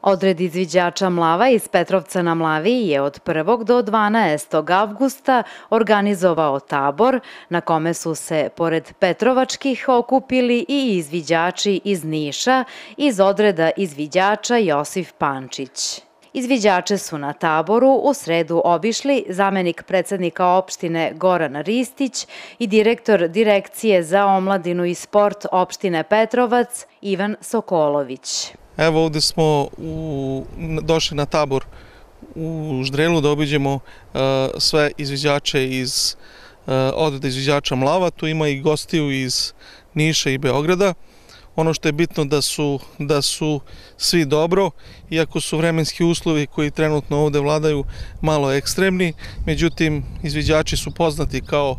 Odred izviđača Mlava iz Petrovca na Mlavi je od 1. do 12. avgusta organizovao tabor na kome su se, pored petrovačkih, okupili i izviđači iz Niša iz odreda izviđača Josif Pančić. Izviđače su na taboru u sredu obišli zamenik predsednika opštine Goran Ristić i direktor Direkcije za omladinu i sport opštine Petrovac Ivan Sokolović. Evo ovde smo došli na tabor u Ždrelu da obiđemo sve izviđače iz odreda izviđača Mlava. Tu ima i gostiju iz Niša i Beograda. Ono što je bitno da su svi dobro, iako su vremenski uslovi koji trenutno ovde vladaju malo ekstremni, međutim izviđači su poznati kao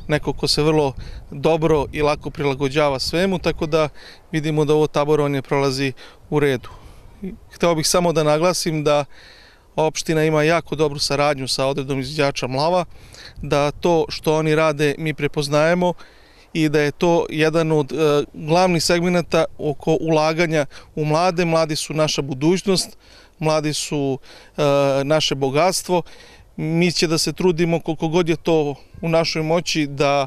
neko ko se vrlo dobro i lako prilagođava svemu, tako da vidimo da ovo taborovanje prolazi u redu. Hteo bih samo da naglasim da opština ima jako dobru saradnju sa odredom izviđača Mlava, da to što oni rade mi prepoznajemo i da je to jedan od glavnih segmenata oko ulaganja u mlade. Mladi su naša budućnost, mladi su naše bogatstvo. Mi će da se trudimo koliko god je to u našoj moći da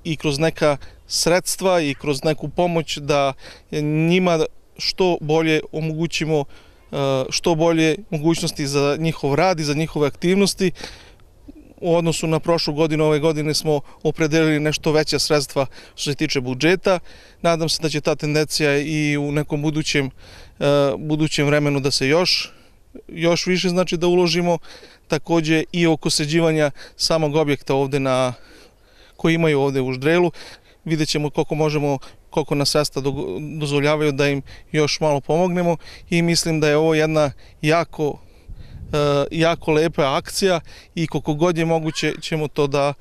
i kroz neka sredstva i kroz neku pomoć da njima što bolje omogućimo što bolje mogućnosti za njihov rad i za njihove aktivnosti. U odnosu na prošlu godinu, ove godine smo opredelili nešto veća sredstva što se tiče budžeta. Nadam se da će ta tendencija i u nekom budućem vremenu da se još više znači da uložimo. Takođe i oko sređivanja samog objekta ovde koji imaju ovde u Ždrelu. Vidjet ćemo koliko nas sredstva dozvoljavaju da im još malo pomognemo i mislim da je ovo jedna jako lepa akcija i koliko god je moguće ćemo to da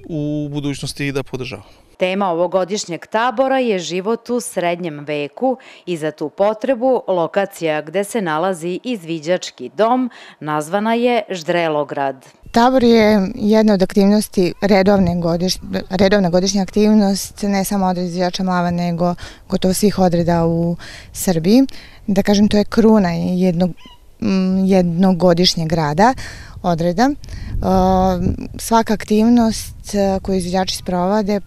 u budućnosti i da podržavamo. Tema ovogodišnjeg tabora je život u srednjem veku i za tu potrebu lokacija gde se nalazi izviđački dom nazvana je Ždrelograd. Tabor je jedna od aktivnosti, redovna godišnja aktivnost, ne samo odreda izviđača Mlava, nego gotovo svih odreda u Srbiji. Da kažem, to je kruna jednogodišnjeg rada odreda. Svaka aktivnost koju izviđači sprovode,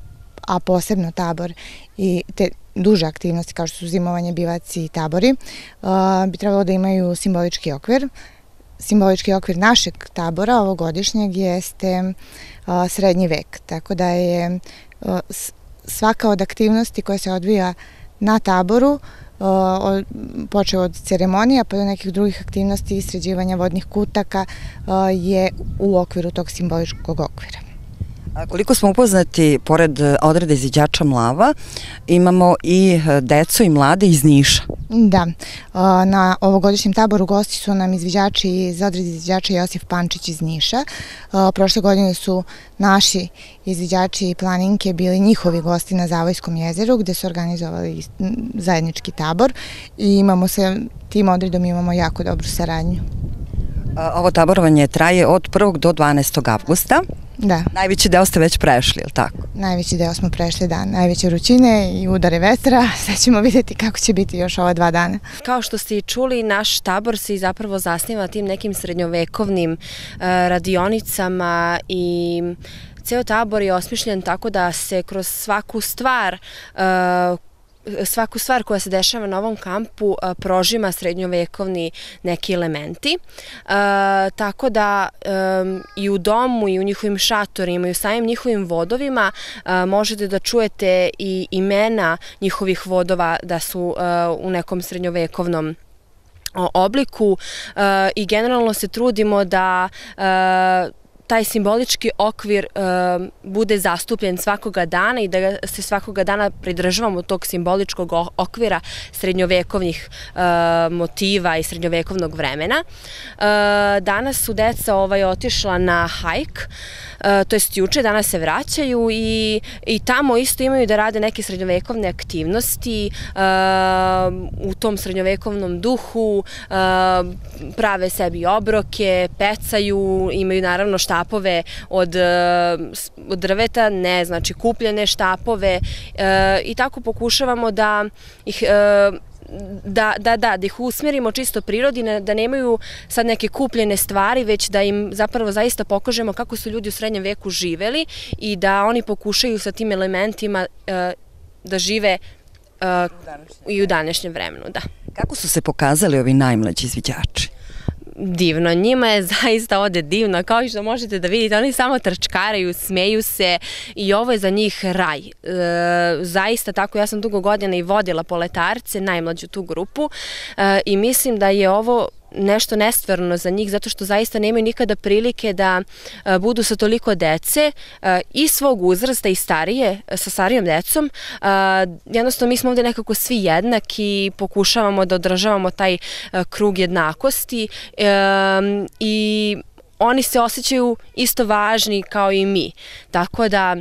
a posebno tabor i te duže aktivnosti kao što su zimovanje, bivaci i tabori, bi trebalo da imaju simbolički okvir. Simbolički okvir našeg tabora ovogodišnjeg jeste srednji vek, tako da je svaka od aktivnosti koja se odvija na taboru, počeo od ceremonija pa do nekih drugih aktivnosti i sređivanja vodnih kutaka, je u okviru tog simboličkog okvira. Koliko smo upoznati, pored odreda izviđača Mlava, imamo i decu i mlade iz Niša. Da, na ovogodišnjem taboru gosti su nam izviđači iz odreda izviđača Josif Pančić iz Niša. Prošle godine su naši izviđači i planinke bili njihovi gosti na Zavojskom jezeru gde su organizovali zajednički tabor i imamo sa tim odredom imamo jako dobru saradnju. Ovo taborovanje traje od 1. do 12. avgusta. Da. Najveći deo ste već prešli, je li tako? Najveći deo smo prešli, da. Najveće vrućine i udare vetra. Sad ćemo vidjeti kako će biti još ova 2 dana. Kao što ste i čuli, naš tabor se zapravo zasniva tim nekim srednjovekovnim radionicama i ceo tabor je osmišljen tako da se kroz svaku stvar koja se dešava na ovom kampu prožima srednjovekovni neki elementi. Tako da i u domu i u njihovim šatorima i u samim njihovim vodovima možete da čujete i imena njihovih vodova da su u nekom srednjovekovnom obliku i generalno se trudimo da taj simbolički okvir bude zastupljen svakoga dana i da se svakoga dana pridržavamo tog simboličkog okvira srednjovekovnih motiva i srednjovekovnog vremena. Danas su deca otišla na hajk, to jest juče, danas se vraćaju i tamo isto imaju da rade neke srednjovekovne aktivnosti u tom srednjovekovnom duhu, prave sebi obroke, pecaju, imaju naravno štapove od drveta, ne, znači kupljene štapove i tako pokušavamo da ih da ih usmjerimo čisto prirodi, da nemaju sad neke kupljene stvari, već da im zapravo zaista pokažemo kako su ljudi u srednjem veku živeli i da oni pokušaju sa tim elementima da žive i u današnjem vremenu, da. Kako su se pokazali ovi najmlađi izviđači? Divno, njima je zaista ovde divno, kao što možete da vidite, oni samo trčkaraju, smeju se i ovo je za njih raj. Zaista tako, ja sam dugo godina i vodila poletarce, najmlađu tu grupu i mislim da je ovo nešto nestvarno za njih, zato što zaista nemaju nikada prilike da budu sa toliko dece i svog uzrasta i starije, sa starijom decom. Jednostavno mi smo ovde nekako svi jednaki i pokušavamo da održavamo taj krug jednakosti i oni se osjećaju isto važni kao i mi. Tako da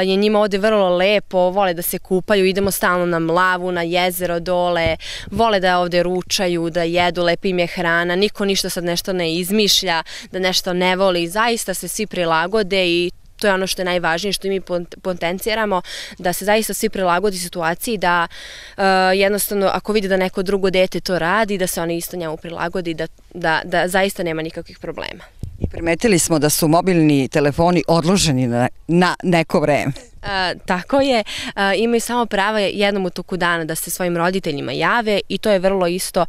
je njima ovde vrlo lepo, vole da se kupaju, idemo stalno na Mlavu, na jezero dole, vole da ovde ručaju, da jedu, lepa im je hrana, niko ništa sad nešto ne izmišlja, da nešto ne voli, zaista se svi prilagode i to je ono što je najvažnije, što mi potenciramo, da se zaista svi prilagodi situaciji, da jednostavno ako vidi da neko drugo dete to radi, da se oni isto njemu prilagodi, da zaista nema nikakvih problema. I primetili smo da su mobilni telefoni odloženi na neko vreme. Tako je, imaju samo prava jednom u toku dana da se svojim roditeljima jave i to je vrlo isto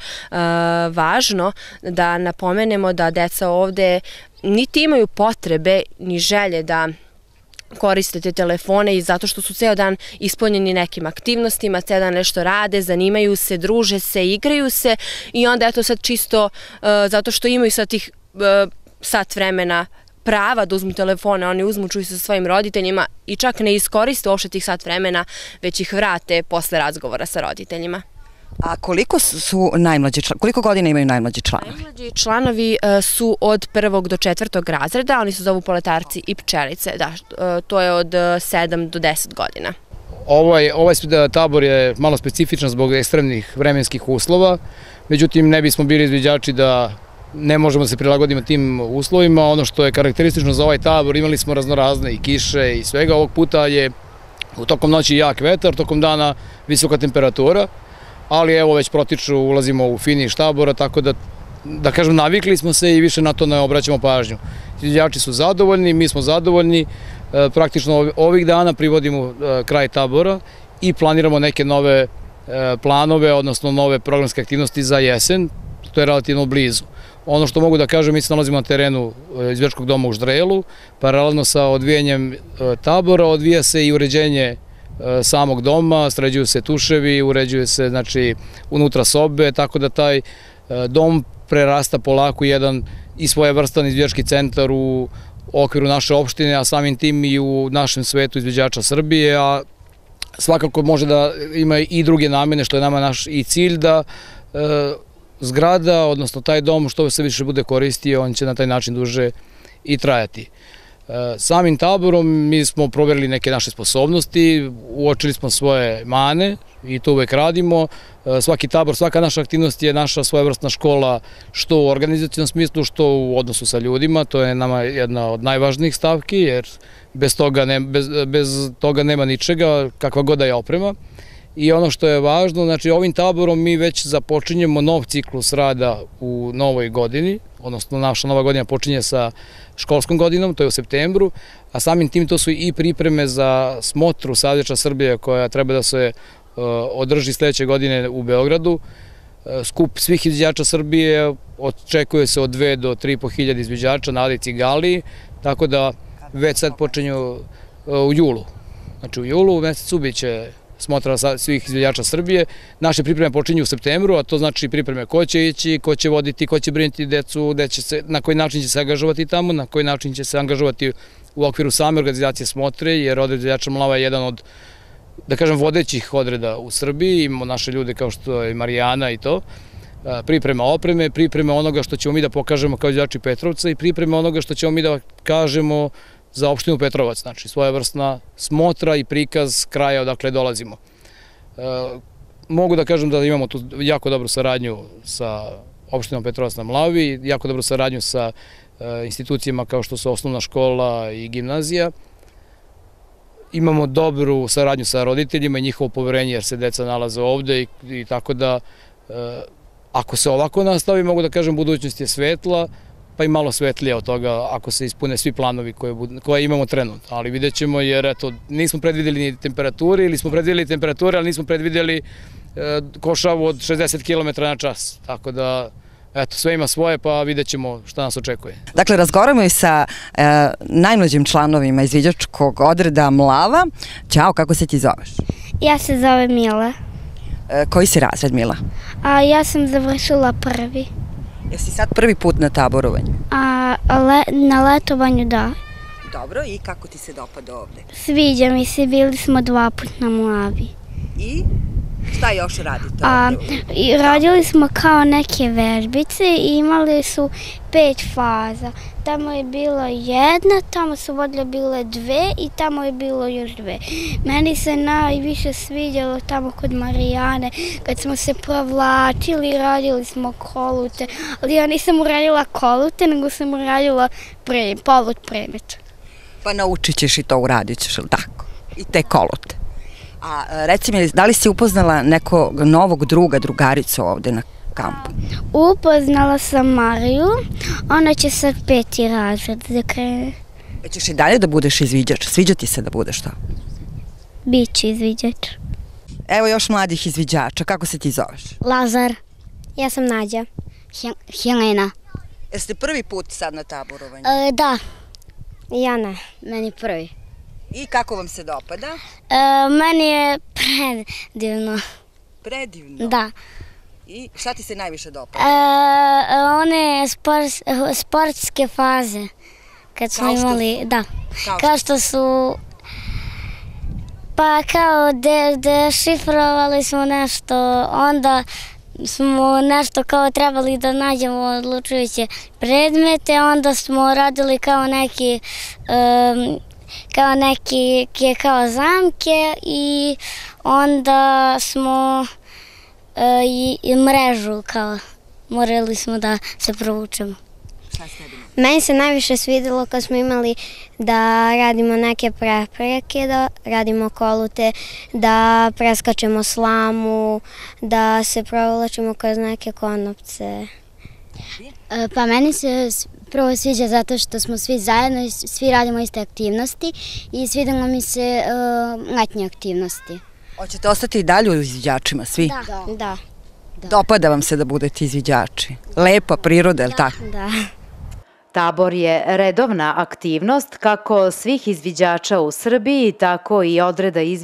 važno da napomenemo da deca ovde niti imaju potrebe ni želje da koriste te telefone i zato što su ceo dan ispunjeni nekim aktivnostima, ceo dan nešto rade, zanimaju se, druže se, igraju se i onda eto sad čisto zato što imaju sad tih sat vremena prava da uzmu telefone, oni uzmu, čuju se sa svojim roditeljima i čak ne iskoriste uopšte tih sat vremena, već ih vrate posle razgovora sa roditeljima. A koliko godina imaju najmlađi članovi? Najmlađi članovi su od 1. do 4. razreda, oni se zovu poletarci i pčelice, da, to je od 7 do 10 godina. Ovaj tabor je malo specifičan zbog ekstremnih vremenskih uslova, međutim ne bismo bili izviđači da ne možemo da se prilagodimo tim uslovima. Ono što je karakteristično za ovaj tabor, imali smo raznorazne i kiše i svega. Ovog puta je tokom noći jak vetar, tokom dana visoka temperatura, ali evo već protiču, ulazimo u finiš tabora, tako da kažem navikli smo se i više na to ne obraćamo pažnju. Izviđači su zadovoljni, mi smo zadovoljni, praktično ovih dana privodimo kraj tabora i planiramo neke nove planove, odnosno nove programske aktivnosti za jesen, to je relativno blizu. Ono što mogu da kažem, mi se nalazimo na terenu izviđačkog doma u Ždrelu, paralelno sa odvijanjem tabora, odvija se i uređenje samog doma, sređuju se tuševi, uređuje se znači unutra sobe, tako da taj dom prerasta polako jedan i svojevrstan izviđački centar u okviru naše opštine, a samim tim i u našem svetu izviđača Srbije, a svakako može da ima i druge namene, što je nama naš i cilj da zgrada, odnosno taj dom što se više bude koristio, on će na taj način duže i trajati. Samim taborom mi smo proverili neke naše sposobnosti, uočili smo svoje mane i to uvek radimo. Svaki tabor, svaka naša aktivnost je naša svojevrsna škola, što u organizacijnom smislu, što u odnosu sa ljudima. To je nama jedna od najvažnijih stavki, jer bez toga nema ničega, kakva god da je oprema. I ono što je važno, znači ovim taborom mi već započinjemo nov ciklus rada u novoj godini, odnosno naša nova godina počinje sa školskom godinom, to je u septembru, a samim tim to su i pripreme za smotru Izviđača Srbije koja treba da se održi sledeće godine u Beogradu. Skup svih izviđača Srbije očekuje se od 2 do 3.500 izviđača na Adi Cigaliji, tako da već sad počinju u julu. Znači u julu, u mesecu biće smotra svih izviđača Srbije. Naše pripreme počinju u septembru, a to znači pripreme ko će ići, ko će voditi, ko će brinuti decu, na koji način će se angažovati tamo, na koji način će se angažovati u okviru same organizacije smotre, jer odred izviđača Mlava je jedan od, da kažem, vodećih odreda u Srbiji. Imamo naše ljude kao što je Marijana i to. Priprema opreme, priprema onoga što ćemo mi da pokažemo kao izviđači Petrovca i priprema onoga što ćemo mi da kažemo za opštinu Petrovac, znači svojevrsna smotra i prikaz kraja odakle dolazimo. Mogu da kažem da imamo tu jako dobru saradnju sa opštinom Petrovac na Mlavi, jako dobru saradnju sa institucijama kao što su osnovna škola i gimnazija. imamo dobru saradnju sa roditeljima i njihovo poverenje jer se deca nalaze ovde i tako da ako se ovako nastavi, mogu da kažem, budućnost je svetla, pa i malo svetlija od toga ako se ispune svi planovi koje imamo trenutno. Ali vidjet ćemo jer eto, nismo predvideli ni temperaturi ili smo predvideli temperature, ali nismo predvideli košavu od 60 km na čas. Tako da, eto, sve ima svoje, pa vidjet ćemo šta nas očekuje. Dakle, razgovaramo i sa najmlađim članovima izviđačkog odreda Mlava. Ćao, kako se ti zoveš? Ja se zovem Mila. Koji si razred, Mila? Ja sam završila prvi. Jesi sad prvi put na taborovanju? Na letovanju da. Dobro, i kako ti se dopada ovde? Sviđa mi se, bili smo 2 puta na Mlavi. I šta još radite ovde? Radili smo kao neke vežbice i imali su 5 faza. Tamo je bilo 1, tamo su vodile bile 2 i tamo je bilo još 2. Meni se najviše sviđalo tamo kod Marijane, kad smo se provlačili, radili smo kolute, ali ja nisam uradila kolute, nego sam uradila polut premet. Pa naučit ćeš i to, uradit ćeš, ili tako? I te kolute. A reci mi, da li si upoznala nekog novog druga, drugaricu ovde na kampu? Upoznala sam Mariju, ona će sad 5. razred da krene. Ćeš i dalje da budeš izviđač? Sviđa ti se da budeš to? Biće izviđač. Evo još mladih izviđača, kako se ti zoveš? Lazar. Ja sam Nađa. Helena. Jeste prvi put sad na taborovanju? Da. Ja ne, meni prvi. I kako vam se dopada? Meni je predivno. Predivno? Da. I šta ti se najviše dopada? One sportske faze. Kad smo imali, da. Kao što su, pa kao dešifrovali smo nešto, onda smo nešto kao trebali da nađemo odlučujuće predmete, onda smo radili kao neki kao zamke i onda smo i mrežu kao morali smo da se provučemo. Meni se najviše svidelo kad smo imali da radimo neke prepreke, da radimo kolute, da preskačemo slamu, da se provlačimo kroz neke konopce. Pa meni se prvo sviđa zato što smo svi zajedno i svi radimo iste aktivnosti i svidelo mi se letnje aktivnosti. Hoćete ostati i dalje u izviđačima, svi? Da. Dopada vam se da budete izviđači? Lepa priroda, je li tako? Da. Tabor je redovna aktivnost kako svih izviđača u Srbiji, tako i odreda izviđača